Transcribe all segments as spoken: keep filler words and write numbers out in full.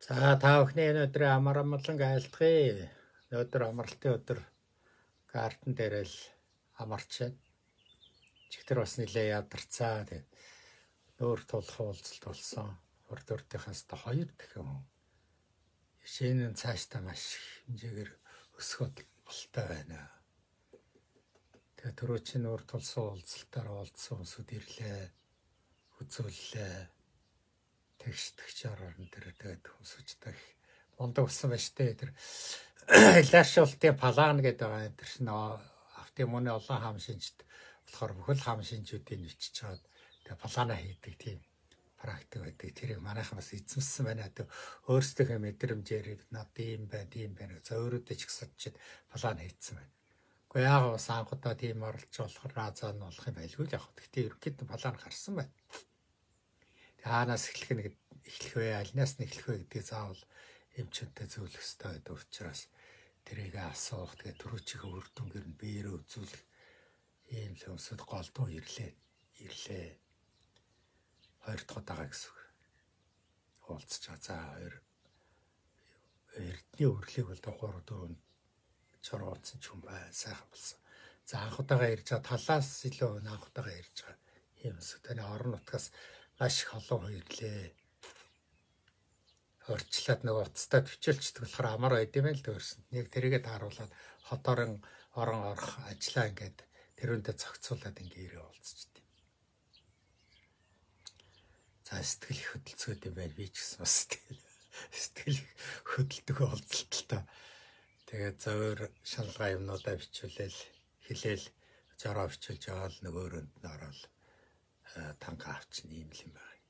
За та бүхний өнөөдөр амар амгалан айлтгая. Өнөөдөр амралтын өдөр гартен дээр л амарч байна. Чихтэр бас нилээ ядарцаа. Тэгээд нүүр тулах уулзалт болсон. Урд урдынхаас та хоёр дахин шинэ цаашдаа маш хэмжээгээр өсгөд болтой байна. Тэгээд түрүү чинь нүүр тулсан уулзалтаар уулзсан хүмүүсүүд ирлээ. Үзүүллээ. Тэгш-тэгш орон дээр тэгээд хүмүүстэй мондог болсон байж тээ тэр лашуултын палаан гэдэг байгаа. Тэр чинь автомобиль олон хам шинжт болохоор бүхэл хам шинжүүдийг бичиж чаад тэгээд палаана хийдэг тийм практик байдаг. Тэрийг манайхан бас эзэмсэн байна. Тэгээд өөрсдийнхөө мэдрэмжээр бид над ийм байна, тийм байна. Зөөрөдөө ч гэсэд палаан хийцэн байна. Гэхдээ яг бас анхудаа тийм оролж болохоор разаа нь болох юм байлгүй л яг. Гэхдээ ерөнхийдөө палаан гарсан байна. Хаанаас эхлэх нэг эхлэх вэ, альнаас нь эхлэх вэ гэдгийг заавал эмчэнтэй зөвлөх ёстой гэдэг учраас тэрийг асуух, тэгээ түрүүчийн үр дүнгээр нь биеэрээ үзүүлэх ийм л өмсөд голдуу ирлээ. Ирлээ. Хоёр дахь удаага гэсэн үг. Уулзч байгаа. За хоёр эрдний өрлийг бол гурав дөрөв чорооцсон ч юм бай, сайхан болсон. За анх удаага ирж байгаа талаас илүү анх удаага ирж байгаа ийм өсөд таны орон нутгаас маш их олон ирлээ. Орчлаад нэг уцтай төвчөлчдөг болохоор амар байд юм л дөрсөн. Нэг тэрийгэ тааруулаад хотоорон орон орох ажиллаа ингээд тэрүүндээ зохицуулаад ингээ ирээ уулзчихдээ. За сэтгэл их хөдөлцөөд юм байна би ч гэсэн бас сэтгэл хөдөлдөг уулзалталтай. Тэгээд зөөр шалгаа юмнуудаа бичүүлээл хэлээл жороо бичүүлж аваад нөгөөрөнд нь ороод танга авчин ийм л юм байна.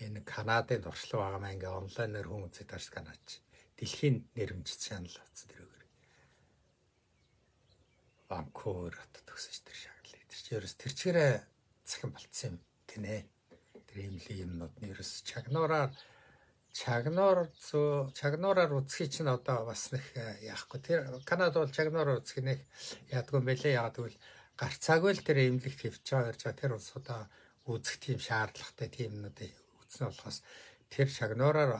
Энэ Канадын туршлага байгаа маа ингээ онлайнаар хүн үзэж таарч Канач. Дэлхийн нэрмжит чанал авсан тэрүүгээр. Ванкувер хотод төгсөж тэр шаглал. Тэр чинь ерөөс тэр чигээрээ цахим болцсон юм гинэ. Тэр ийм л юмнууд нь ерөөс чагнуураар чагнуур зөө чагнуураар үзхий чинь одоо бас нэг яахгүй. Тэр Канад бол чагнуураар үзэх нэг яадгүй юм бэлээ. Яг тэгвэл гарцаагүй л тэр эмнэлэгт хөвч байгаа гэж тэр улсуудаа үзэх тийм шаардлагатай тийм юмнуудыг үзсэн болохоос тэр шагнуураар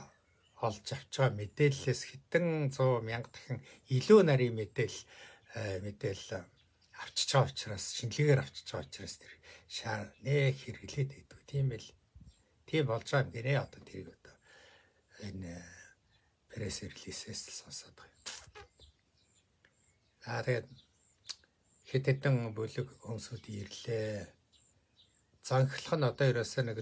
олж авч байгаа мэдээллээс хэдэн зуун мянга дахин илүү нарийн мэдээлэл мэдээлэл авчиж байгаа учраас шинэлгээр авчиж байгаа учраас тэр шаар нэ хэрэглээд байдаг. Тийм л тийм болж байгаа юм гинэ одоо тэрийг одоо энэ пресс релизээс сонсоод байгаа. Аа тэгээд хэд хэдэн бүлэг хүмүүсүүд ирлээ. Занхлах нь одоо ерөөсөө нэг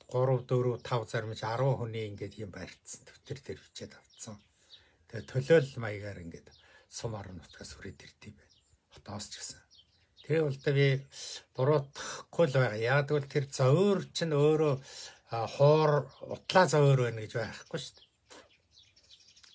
гурав дөрөв тав зармж арван хүний ингээд юм барьцсан. Төвтөр дээр бичээд авцсан. Тэгээ төлөөлөл маягаар ингээд сум орон нутгаас хүрээд ирдэв байна. Хотоос ч гэсэн. Тэр бол би буруутгахгүй л байгаа. Яг тэгвэл тэр зөөр чинь өөрөө хуур утлаа зөөр байна гэж байхгүй шүү дээ.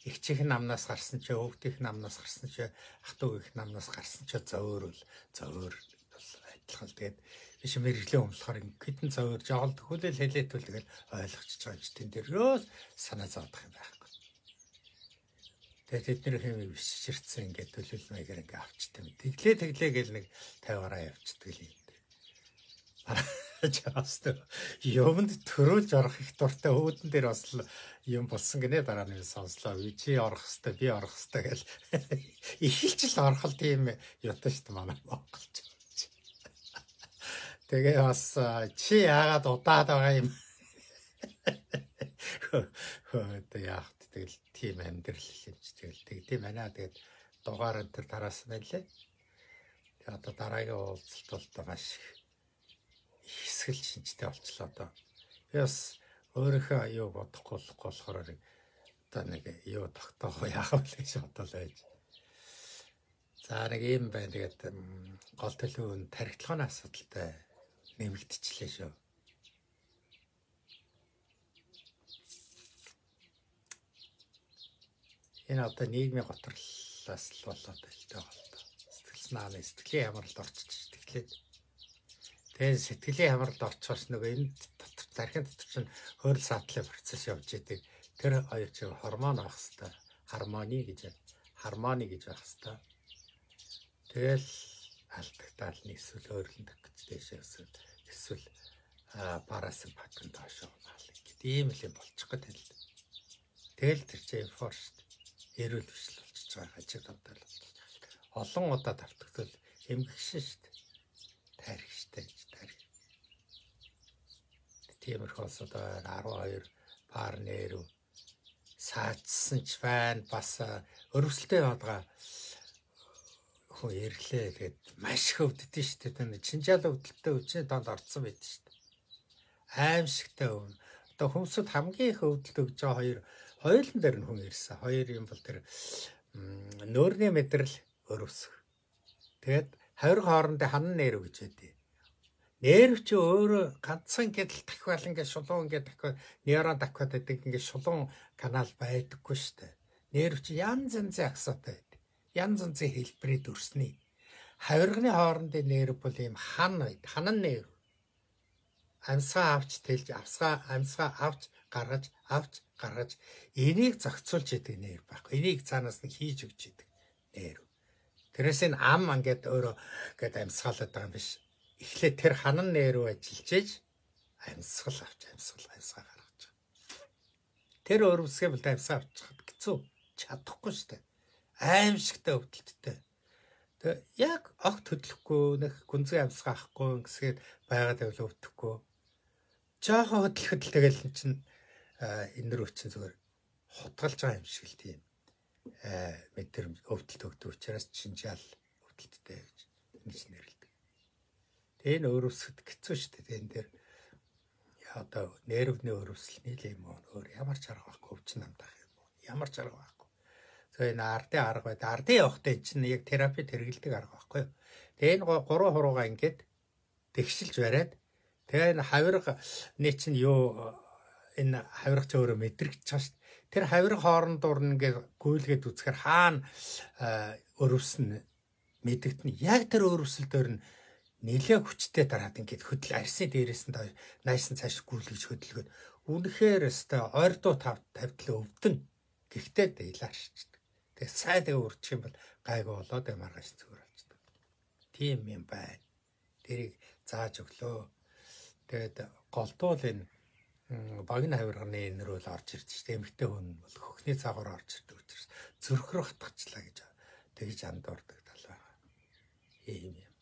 Их чих намнаас гарсан ч өвгдөх намнаас гарсан ч ах トゥ гих намнаас гарсан ч зөөр л зөөр бол адилхан л тэгээд биш мэрэгжлийн өмлөхөр хэдэн зөөр жоол төхөөлөл хэлээтэл тэгэл ойлгочихж байгаа ч тэн дээрөөс санаа зовдох юм байхгүй. Тэгээд тэдний хэмиг биширцэн ингээд төлөвлөл маягаар ингээд авчдаг. Тэглээ тэглээ гэл нэг тавиараа явчихдаг л юм. Жааст юмд төрүүлж орох их дуртай өөдөн дээр бас юм болсон гинэ дараа нь сонслоо. Чи орох хэвээр би орох хэвээр гэл ихэлж л орхол тийм ятаа шүү дээ манай Монголч. Тэгээ бас чи яагаад удаад байгаа юм. Хөөе яах тэгэл тийм амьдрал хэлж тэгэл тэгдэм байна. Тэгээд дугаар энэ тараас мэлээ. Тэгээ одоо дараагийн уулзалт бол маш хэсгэл шинжтэй болчлоо одоо. Би бас өөрийнхөө юу бодохгүй болохоор одоо нэг юу тогтоох яах вэ гэж бодлоо байж. За нэг юм байна. Тэгээд гол төлөв нь тархитлагын асуудалтай нэмэгдчихлээ шүү. Энэ одоо нийгмийн готролоос л болоод байлтай болтой. Сэтгэл санааны сэтгэлийн ямарлалд орчиж тэгэхээр тэгээд сэтгэлийн хамралд орчоос нөгөө энэ дотор тархин дотор чинь хөрөл саатлын процесс явж идэг. Тэр хоёр чинь гормон авах хэвээр гармони гэж хармони гэж байх хэвээр. Тэгэл алдагтаал нь эсвэл өөрлөлт гэж дэшээс эсвэл парасимпатик доошоо маал гэдэг ийм л юм болчих гээд л. Тэгэл тэр чинь эфор шүү дээ. Эрүүл бишл болчихж байгаа хажиг тавтал. Олон удаа давтагдвал эмгэгшин шүү дээ. Тарих шүү дээ. Тарих. Тиймэрхүү одоо арван хоёр пар нэрв саачсан ч байна. Бас өрөвсөлтэй байгаа хүн ирлээ тэгээд маш их өвддөг шүү дээ. Чинжаал өвдөлтөй үчний донд орцсон байдаг шүү дээ. Аимшигтай өвн. Одоо хүмүүсд хамгийн их өвдөлт өгж байгаа хоёр хоёулын дээр нь хүн ирсэн. Хоёр юм бол тэр нөөрний мэдрэл өрөвсөх. Тэгээд хоёр хоорондын ханан нэрв гэж байдیں۔ Нерв чи өөрөө ганцхан гэдэл дахиад ингээд шулуун ингээд дахиад нейрон дахиад байдаг ингээд шулуун канал байдаггүй шүү дээ. Нерв чи янз янзын аксатай байдаг. Янз янзын хэлбэрээр дүрсний. Хавирганы хоорондын нерв бол ийм хан байд. Ханан нерв. Амьсгаа авч тэлж авсгаа амьсгаа авч гаргаж авч гаргаж энийг зохицуулж идэг нерв байхгүй. Энийг цаанаас нь хийж өгч идэг нерв. Тэрээс энэ ам ингээд өөрөө ингээд амьсгаалаад байгаа юм биш. Эхлээ тэр ханан нерв ажиллаж ээж амьсгал авч амьсгал амьсгаа гаргаж байгаа. Тэр өрөвсгөө бол амьсгаа авчихад хэцүү чадахгүй шүү дээ. Аимшигтай өвдөлттэй. Тэгээ яг огт хөдлөхгүй нэг гүнзгий амьсгаа авахгүй гэсгээд байгаад байвал өвдөхгүй. Жаахан хөдлөхөд л тэгэл эн чинь энэ рүү чинь зүгээр хутгалж байгаа юм шиг л тийм мэдэр өвдөлт өгдөг учраас чинжаал өвдөлттэй гэж ингэж нэрлэдэг. Тэгээ энэ өрөвсөд хэцүү шүү дээ. Энэ дээр одоо нервний өрөвсөл нийлээ юм уу? Өөр ямар ч арга байхгүй өвчин намдах юм уу? Ямар ч арга байхгүй. Тэгээ энэ ардын арга байд. Ардын явахтай чинь яг терапи хэрэгэлдэг арга байхгүй юу? Тэгээ энэ гурван хуруугаа ингээд тэгшилж бариад тэгээ энэ хавирганы чинь юу энэ хавиргач өөрөө мэдрэгдэж байгаа шүү дээ. Тэр хавирга хоорондоор ингээд гүйлгээд үзэхээр хаана өрөвсөн мэдэгдэн яг тэр өрөвсөл дээр нь нэлээ хүчтэй дараад ингээд хөдөл арсны дээрээс нь найсан цааш гүйлгэж хөдөлгөөд үнэхээр өстой ойрдуу тавтал өвдөн гэхдээ дээлаа шичдэг. Тэгээ сайдаа өрчих юм бол гайгүй болоод маргааш зүгээр болчдөг. Тийм юм байна. Тэрийг зааж өглөө. Тэгээд голдуул энэ багны хавирганы энэ рүү л орж ирж штэ. Эмэгтэй хүн бол хөхний цаагаар орж ирдэг учраас зүрх рүү хатгачлаа гэж тэгж андуурдаг тал байгаа. Ийм юм.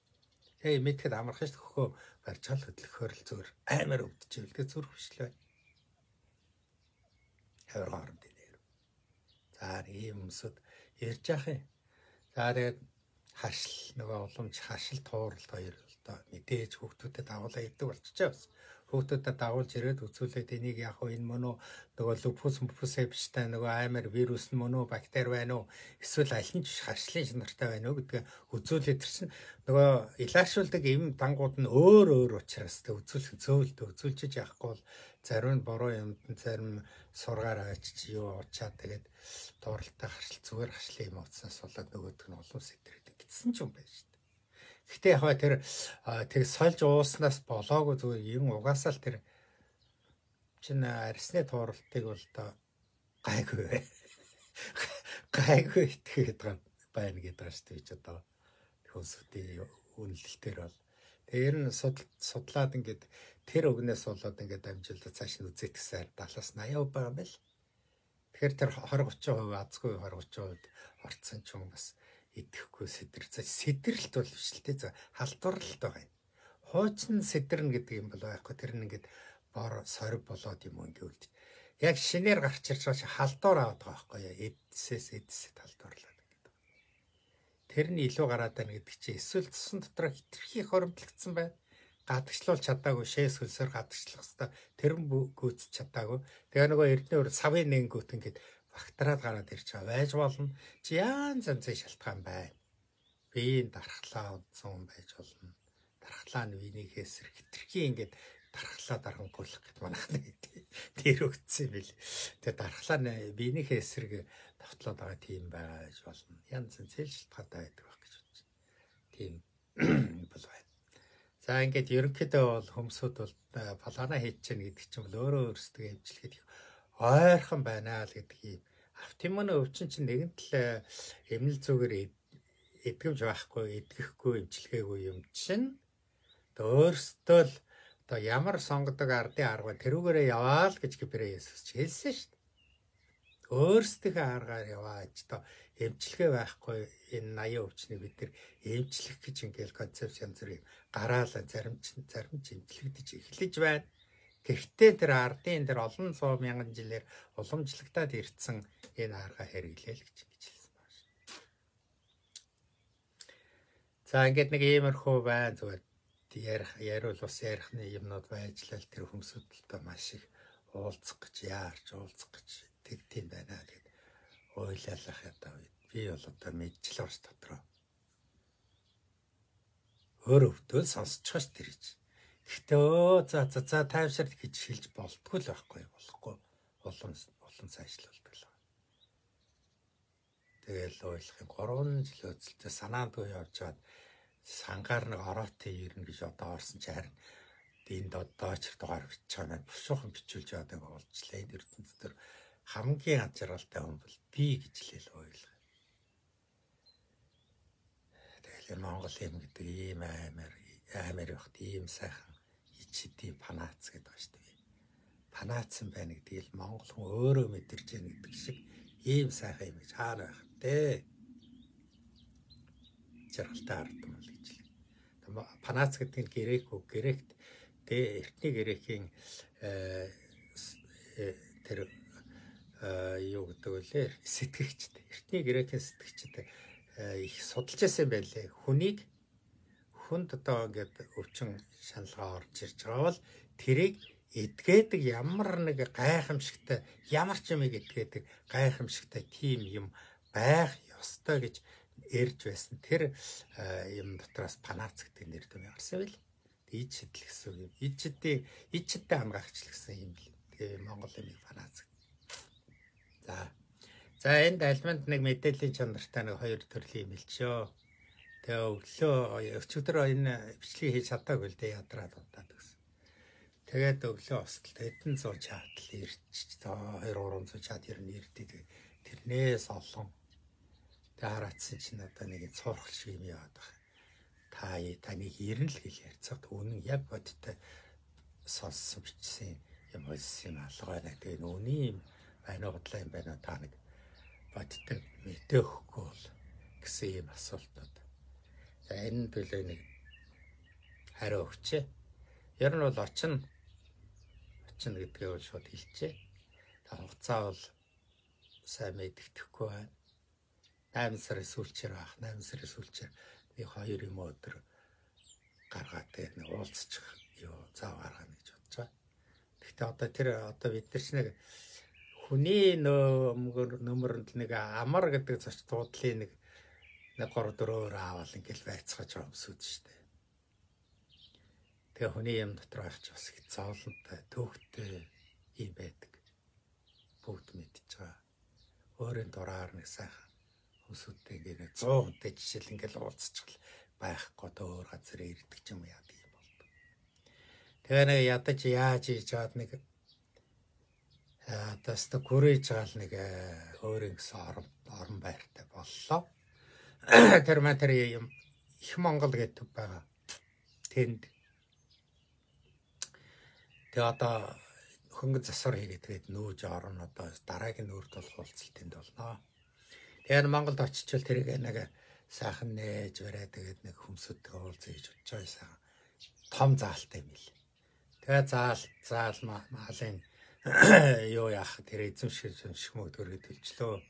Тэгээ мэдхэд амархан шүү хөхөө барьж гал хөдлөхөөр л зүгээр амар өвдөж ивэл тэгээ зүрх бишлээ. Хавирга хоорондын нэр. За ийм юмсууд ярьж яах юм. За тэгээд хашил нөгөө уламж хашил тууралт хоёр одоо мэдээж хүүхдүүдэд дагуулаа идэг болчихоо бас. Хүүхдүүдэд дагуулж ирээд үзүүлээд энийг яах вэ? Энэ мөн үү нөгөө лупус мупусээ биштэй нөгөө аймаар вирус нь мөн үү бактери байна уу? Эсвэл аль нь ч хашлын шинартай байна уу гэдгээ үзүүлээд ирсэн. Нөгөө илаашуулдаг эм дангууд нь өөр өөр учраас тэ үзүүлэх зөөлдө үзүүлчих яахгүй бол зарим нь буруу юмд нь зарим сургаар авчиж юу уучаад тэгээд дууралтай харшил зүгээр хашлын юм уцснаас болоод нөгөөдг нь улам сэтрээд гитсэн ч юм байна шүү дээ. Гэхдээ яг тэр тэг сольж ууснаас болоогүй зүгээр юм угаасаа л тэр чинь арсны тууралтыг бол одоо гайгүй гайгүй итгэхэд байна гэдэг байгаа шүү дээ одоо хүмүүсийн үнэлэлтээр бол тэр нь судлаад ингээд тэр өгнөөс болоод ингээд амжилтад цааш нь үзэх гэсэн талаас аяа байгаа юм байл. Тэгэхээр тэр двадцать тридцать хувь азгүй двадцать тридцать хувьд орцсон ч юм бас идэхгүй сэдэр. Сэдэрлэлт бол биш л дээ. Халдварлалт байгаа юм. Хуучин сэдэрнэ гэдэг юм бол байхгүй. Тэр нь ингээд бор сориг болоод юм уу ингээд үлдэж. Яг шинээр гарч ирж байгаа чи халдвар аваад байгаа байхгүй яа. Эдсээс эдсэд халдварлаад гэдэг. Тэр нь илүү гараад байна гэдэг чи эсвэл цусан дотор хитрхи хоримтлагдсан байна. Гадагшлуул чадаагүй шээс хөлсөөр гадагшлах хэвээр тэр нь гүйц чадаагүй. Тэгээ нөгөө эрдэнэ өр савын нэнгүүт ингээд багтраад гараад ирж байгаа байж болно. Чи янз янзын шалтгаан байна. Биеийн дархлаа удсан байж болно. Дархлаа нь винийхээ эсрэг хитрхи ингээд дархлаа дарангуулах гэдэг манайх нэг тэр өгцсөн юм бил. Тэгээ дархлаа нь винийхээ эсрэг давтлаад байгаа тийм байж болно. Янз янзын шалтгаантай байдаг байх гэж бодож. Тийм бол байна. За ингээд ерөнхийдөө бол хүмүүсүүд бол плана хийж чинь гэдэг чинь бол өөрөө өөрсдөө хэмжлэхэд ойрхон байна л гэдгийг автомын өвчин чинь нэгэн тал эмнэл зүгээр эдгэмж байхгүй эдгэхгүй эмчилгээгүй юм чинь өөрсдөө л одоо ямар сонгодог ардын арга тэрүүгээрээ яваа л гэж Гибрэ Есүс ч хэлсэн шүү дээ. өөрсдийнхөө аргаар яваач то эмчилгээ байхгүй энэ наяа өвчнийг бид нар эмчлэх гэж ингээл концепц янз бүрийн гараалаа зарим ч зарим ч эмчлэгдэж эхлэж байна. Гэхдээ тэр ардын тэр олон суу мянган жилээр уламжлагдаад ирсэн энэ арга хэрэглээл гэж ингэж хэлсэн байна. За ингээд нэг иймэрхүү байна зүгээр ярих яриул бас ярихны юмнууд байж л тэр хүмүүсүүдтэй маш их уулзах гэж яарч уулзах гэж тэгтийн байна гэд ойлалах ята би бол одоо мэдчихл орч дотроо өөр өвдөл сонсчихоо ш тэр гэж. Гэхдээ өө за за за тайвшир гэж хэлж болтгүй л байхгүй болохгүй улам улам сайжлуулдаг л. Тэгэл ойлгохын гурван жил өцөлтөд санаандгүй явж чад сангаар нэг ороотын ирнэ гэж одоо орсон ч харин энд одоо ч дугаар бичиж байгаа маань бушуухан бичүүлж яваад байгаа болжлаа. Энэ ертөнц төр хамгийн ачаалалтай хүн бол би гэж л ойлгоо. Тэгэл Монгол юм гэдэг ийм аймаар аймаар явахт ийм сайхан ичдийн панац гэдэг ба шүү дээ. Панаацсан байна гэдгийг Монгол хүн өөрөө мэдэрч яах гэдэг шиг ийм сайхан юм гэж хаана байх вэ? Жаргалтай ардсан бол гэж л. Панац гэдэг нь грек үг, грект тэ эртний грекийн тэр юу гэдэг вэ? Сэтгэгчтэй. Эртний грекийн сэтгэгчтэй их судалж байсан байлээ. Хүнийг хүнд одоо ингээд өвчин шаналгаа орж ирж байгаа бол тэрийг эдгээдэг ямар нэг гайхамшигтай ямар ч юм эдгээдэг гайхамшигтай тийм юм байх ёстой гэж эрж байсан. Тэр юм дотроос панац гэдэг нэр төв гарсан байл. Ид шидэл гэсэн юм. Ид шидээ ид шидээ хамгаагч гэсэн юм л. Тэгээ Монгол юмыг панац. За. За энд альманд нэг мэдээллийн чанартай нэг хоёр төрлийн юм хэлчихөө. Тэгээ өглөө өчигдөр энэ бичлэгийг хийж чадаагүй л дээ ядраад удаад гэсэн. Тэгээд өглөө остол эдэн зуун чатал ирчих. хоёр гурван зуун чат ер нь ирдээ. Тэрнээс олон. Тэгээ хараацсан чинь одоо нэг цуурхал шиг юм яваад байна. Та таныг ирнэ л гэж ярьцаад үнэн яг бодтой сонссон бичсэн юм болсон юм алгаа байна. Тэгээ нүуний байна бодлоо юм байна та нэг бодтой мэдээхгүй бол гэсэн юм асуултууд. За энэ төлөө нэг хариу өгчээ. Ер нь бол очно очно гэдгээ бол шууд хэлчихэ. Та хугацаа бол сайн мэддэхгүй байна. eight сарын сүүлчээр ах eight сарын сүүлчээр нэг хоёр юм өдөр гаргаад тэгээд нэг уулзчих юу зав гаргана гэж бодож байгаа. Гэхдээ одоо тэр одоо бид нар ч нэг хүний нөмөрөнд нэг амар гэдэг зоч дуудлын нэг нэг гур дөрөөр аавал ингээл байцгааж байгаа юмсүүд шүү дээ. Тэгээ хүний юм дотор байх ч бас их зовлонтой, төвхтэй юм байдаг. Бүгд мэдчихэж байгаа. Өөрийн дураар нэг сайхан хүмүүстэй ингээд cent хүнтэй жишээл ингээл уулзчих байхгүй өөр газар ирдэг ч юм яа тийм болдог. Тэгээ нэг ядаж яаж хийж чад нэг атаст гүрэж гал нэг өөрийн гэсэн орон орон байртай боллоо. Тэр матер юм их Монгол гэдэг байгаа. Тэнд тэгээ одоо хөнгөн засвар хийгээд тэгээд нүүж орно одоо дараагийн нүүрт бол уулзалт тэнд болно. Тэгэхээр Монголд очичвал тэрийг нэг сайхан нээж бариад тэгээд нэг хүмсүүдтэй уулзъя гэж бодож байгаа сайхан том заалтай юм л. Тэгээ заал заал маалын юу яах тэр эзэмшил шимэг төрөд хэлчлөө.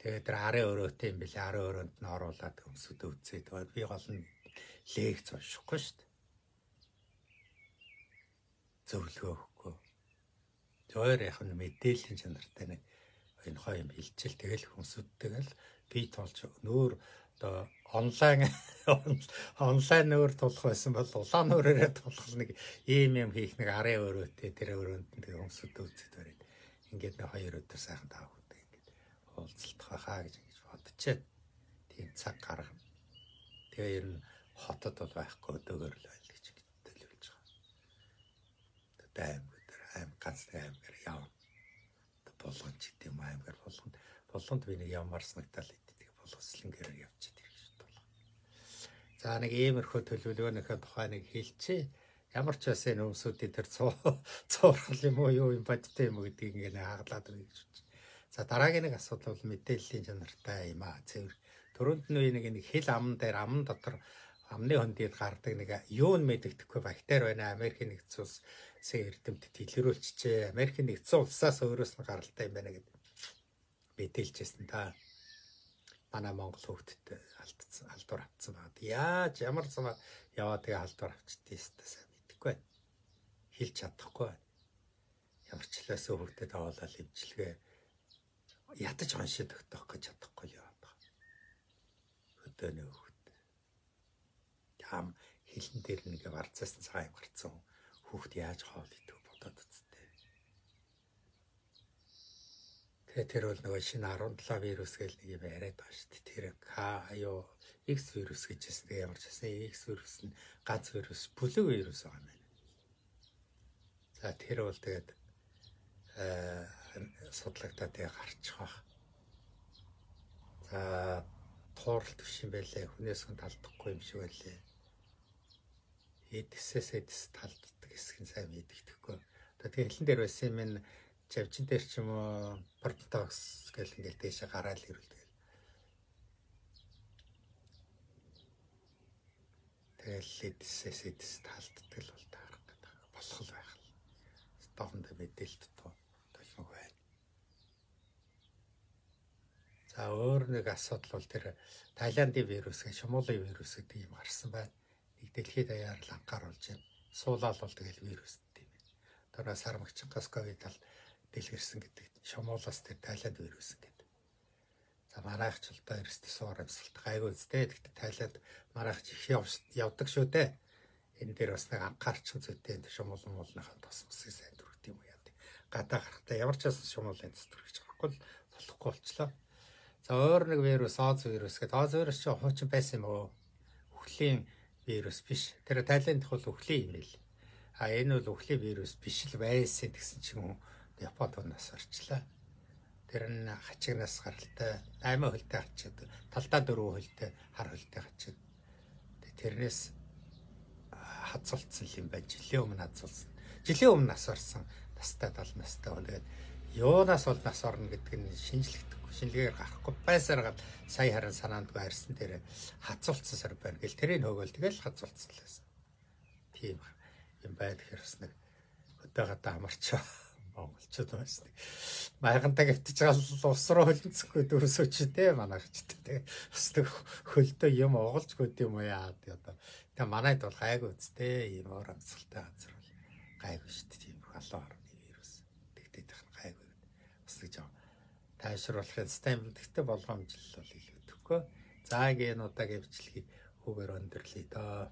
Тэгээд тэр арын өрөөтэй юм бэлээ арын өрөөнд нь оруулаад хүмсүүд өвцөө. Тэгээд би гол нь лекц уншихгүй шүү дээ. Зөвлөгөөхгүй. Зөөр яг нь мэдээллийн чанартай нэг энэ хоёр юм хэлчихэл тэгэл хүмсүүдтэйгэл би толж нөөр одоо онлайн онлайн нөөр тулах байсан бол улаан нөөрөөрөө тулах нэг ийм юм хийх нэг арын өрөөтэй тэр өрөөнд нь тэг хүмсүүд өвцөд бариад ингээд нэг хоёр өдөр сайхан таах үедээ ингээд уулзалтах хаа гэж ингэж бодчихээ. Тийм цаг гаргана. Тэгээ ер нь хотод бол байхгүй өдөөгөр л байл гэж төлөвлөж байгаа. Тэгээ аймаг аим ганц аймгаар явна. Болгон ч гэдэм аймгаар болгонд болгонд би нэг ямар санагдал идэх болгослонгэр явчихад ирэх шүү дээ. За нэг иймэрхүү төлөвлөгөөнийхөө тухай нэг хэлчихээ. Ямар ч бас энэ өмсүүдийн тэр цуурхал юм уу юу юм бодтой юм уу гэдгийг ингээд хаглаад өгье гэж бодчих. За дараагийн нэг асуудал бол мэдээллийн чанартай юм аа. Цэвэр төрөнд нь нэг нэг хэл ам дээр ам дотор амны хөндөд гардаг нэг юу нь мэддэхгүй бактери байна. Америкийн нэгдсэн улсын эрдэмтэд илрүүлчихжээ. Америкийн нэгдсэн улсаас өөрөөс нь гаралтай юм байна гэдэг мэдээлжсэн та. Манай Монгол хөвгтөд алдсан алдуур авцсан байна. Яаж ямар замаар яваад тэгээ алдуур авчдээ сайн мэдэхгүй байна. Хэлж чадахгүй байна. Ямар ч хэлээс хөвгтөд аваалал имчилгээ ядаж уншиж өгөх гэж чадахгүй яваад байгаа. Хөдөөний хөвгт. Ям хилэн дээр нэг варцаас цагаан гарцсан хөвгт яаж хоол идэх бодоод үзтээ. Тэгээ тэр бол нөгөө шинэ арван долоо вирус гэл нэг юм яриад байгаа шүү дээ. Тэр К юу X вирус гэж хэлсэн. Тэгээ ямар ч гэсэн X вирус нь ганц вирус, бүлэг вирус байгаа юм байна. За тэр бол тэгээд э судлагдаад тэгээ гарчих واخ. За туурал төвш юм байлээ. Хүнээс хүн талдахгүй юм шиг байлээ. Эдсээс эдс талддаг хэсэг нь сайн мэддэхгүй. Тэгээ хэлэн дээр байсан юм ин Жавчин дээр ч юм уу портокс гэл ингээл дэше гараал ирүүлдэг. Тэгэл эдсээс эдс талддаг л бол таарах гэдэг болох л байх л. Стохонд мэдээлэлт тоо толмог байна. За өөр нэг асуудал бол тэр Тайландын вирус гэх шумуулын вирус гэдэг юм гарсан байна. Нэг дэлхийд даяар л анхааруулж байна. Суулаал бол тэгэл вирус гэдэг юм байна. Тэр сармагчингаас ковид ал дэлгэрсэн гэдэг шумуулаас тэр Тайланд вирус гэдэг. За маргаахч л да эрсдэл суур амьсгалт гайгүй үстэй. Тэгтээ Тайланд маргаахч их явдаг шүү дээ. Энэ дээр бас нэг анхаарчин зүйтэй энэ шумуулан муулныхаа тос мөсийг сайн дүрхт юм уу яа. Гадаа гарахтаа ямар ч бас шумуулын тос дүрхэж гарахгүй болохгүй болчлоо. За өөр нэг вирус Оз вирус гэдэг. Оз вирус чинь хуучин байсан юм уу? Үхлийн вирус биш. Тэр Тайланд бол үхлийн юм л. А энэ бол үхлийн вирус биш л байсан гэсэн чинь Японд унаас орчлаа. Тэр нь хачигнаас гаралтай аймаа хөлтэй хачид талдаа дөрөв хөлтэй хар хөлтэй хачид. Тэрнээс хацуулсан юм байна. Жилийн өмнө хацуулсан. Жилийн өмнө нас орсон настай тал настай. Тэгээд юунаас бол нас орно гэдэг нь шинжлэхдэггүй. Шинжилгээгээр гарахгүй байсаар гал сая харин санаандгүй арьсан дээр хацуулсан сар байна. Гэл тэрийг нөгөөл тэгэл хацуулсан л байсан. Тийм юм байдаг хэрэг нэг өдөө гадаа амарчаа. Монголчууд байна. Майхантай гівтэж гал ус руу хөлнцөхгүй дөрөсөчтэй манайчтай. Бас хөлдөө юм оголж гүд юм уу яа одоо. Тэ манайд бол гайгүй үстэй юм уур амьсгалтай газар бол гайгүй шүү дээ. Тийм халуун орны вирус. Тэгтээ тах гайгүй. Бас гэж тайшруулахын систем тэгтээ болгоомжлол бол илүү төгөө. За гээ энэ удаагийн бичлэгийг хүүгээр өндөрлөе доо.